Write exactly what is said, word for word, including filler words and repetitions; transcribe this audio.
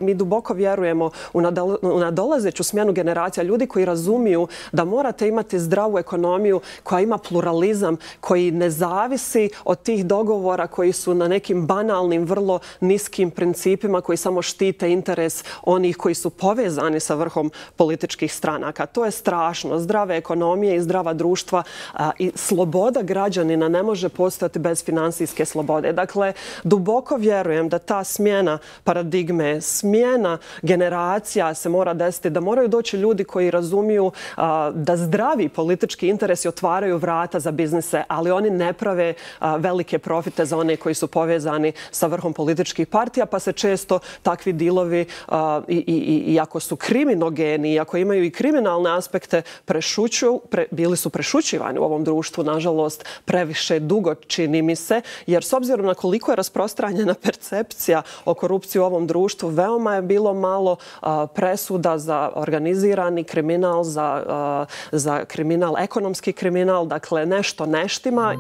mi duboko vjerujemo u nadolazeću smjenu generacija, ljudi koji razumiju da morate imati zdravu ekonomiju koja ima pluralizam, koji ne zavisi od tih dogovora koji su na nekim banalnim, vrlo niskim principima koji samo štite interes onih koji su povezani sa vrhom političkih stranaka. To je strašno. Zdrave ekonomije i zdrava društva i sloboda građanina ne može postojati bez finansijske slobode. Dakle, duboko vjerujem da ta smjena paradigme, smjena generacija se mora desiti, da moraju doći ljudi koji razumiju da zdravi politički interesi otvaraju vrata za biznise, ali oni ne prave velike profite za one koji su povezani sa vrhom političkih partija, pa se često takvi dilovi, iako su kriminogeni, iako imaju i kriminalne aspekte, prešućuju, bili su prešućivani u ovom društvu, nažalost, previše dugo, čini mi se, jer s obzirom na koliko je rasprostranjena percepcija o korupciji u ovom društvu, veoma je bilo malo presuda za organizirani kriminal, za kriminal, ekonomski kriminal, dakle nešto ne štima.